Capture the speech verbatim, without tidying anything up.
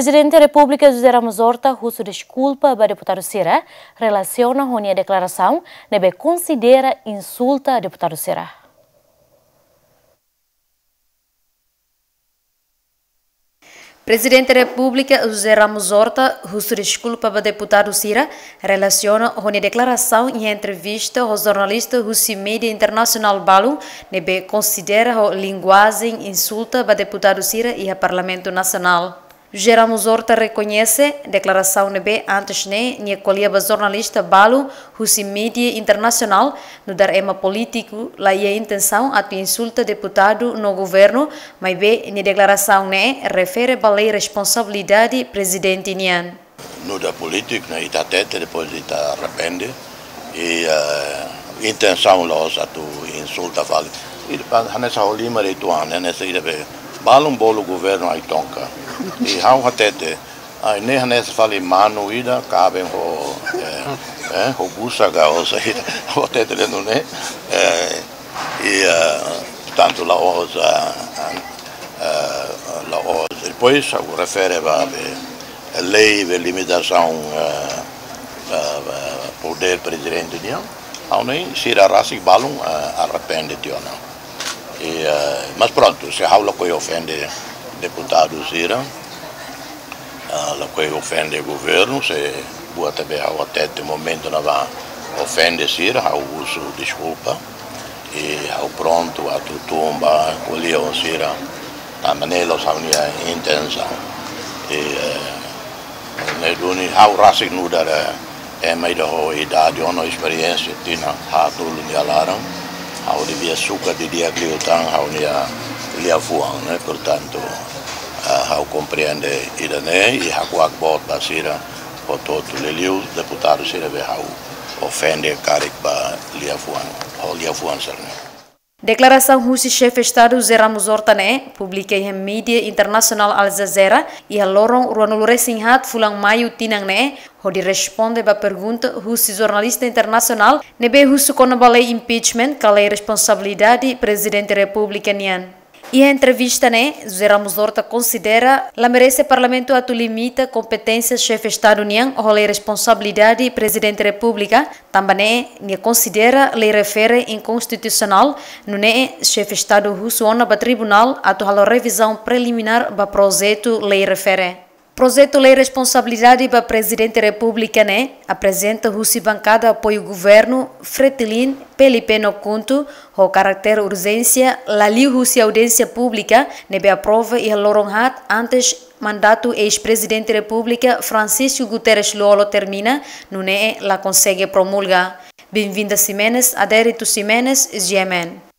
Prezidente Repúblika José Ramos Horta husu deskulpa ba deputadu sira relasiona ho nia deklarasaun ne'ebé konsidera insulta deputadu sira. Prezidente Repúblika José Ramos Horta husu deskulpa ba deputadu sira relasiona ho nia deklarasaun iha entrevista ho jornalista husi média internasionál balu ne'ebé konsidera ho linguajen insulta ba deputadu sira iha Parlamentu Nasionál. José Ramos Horta rekoñese deklarasaun ne'ebé antes ne'e nia ko'alia ba jornalista balu husi média internasionál nu'udar ema polítiku la iha intensaun atu insulta deputadu no governu, maibé nia deklarasaun ne'e refere ba lei responsabilidade prezidente nian. Nu'udar polítiku ne'e ita hatete, depois ita arrepende. I, eh, intensaun la'ós atu insulta fali. I depois hanesan ha'u lima de'it oan, hanesan ida be balun bolu governu ai-tonka. I ha'u hatete, ai ne'e hanesan fali manu ida kaben ho, eh, eh, ho busa ka ho saida. Ha'u hatete dentro ne'e. Eh, i, eh, portantu la'ós, eh, eh, la'ós. Depois ha'u refere ba be lei be limitasaun, eh, eh, eh, podér prezidente nian. Ha'u hanoin sira rasik balun, eh, arrepende tiha ona. I, eh, mas prontu, se ha'u lakohi ofende deputadu sira, eh, lakohi ofende governu, se buat ne'ebé ha'u hatete momentu ne'ebá ofende sira, ha'u husu deskulpa. I ha'u prontu atu tun ba ko'alia ho sira. Tanba ne'e la'ós ha'u-nia intensaun. I, eh, ne'e duni ha'u rasik nu'udar, eh, ema ida ho idade, ho esperiénsia, tinan haat-nulu nia laran. Ha'u devia sukat didi'ak liután ha'u-nia liafuan, ne'e, portantu, eh, ha'u komprende ida-ne'e, i hakuak boot ba sira hotu-hotu, liuliu deputadu sira be ha'u ofende karik ba liafuan, ho liafuan sira-ne'e. Deklarasaun husi Xefe Estadu José Ramos Horta ne'e publika iha média internasionál Al Jazeera iha loron ruanulu-resin-haat fulan Maiu tinan ne'e, hodi responde ba pergunta husi jornalista internasionál ne'ebé husu kona-ba lei impeachment ka lei responsabilidade Prezidente Repúblika nian. Iha entrevista ne'e, José Ramos Horta konsidera la merese Parlamentu atu limita kompeténsia Xefe Estadu nian ho lei responsabilidade Prezidente Repúblika, tanba ne'e nia konsidera lei refere inkonstitusionál, nune'e Xefe Estadu husu ona ba tribunál atu halo revizaun preliminár ba projetu lei refere. Projetu lei responsabilidade ba Prezidente Repúblika ne'e aprezenta husi bankada apoiu governu, Fretilin, P L P no KHUNTO, ho karáter urjénsia, la liu husi audiénsia públika ne'ebé aprova iha loron haat antes mandatu eis-Prezidente Repúblika Francisco Guterres Lú-Olo termina, nune'e la konsege promulga. Benvinda Ximenes, Adérito Ximenes, G M N.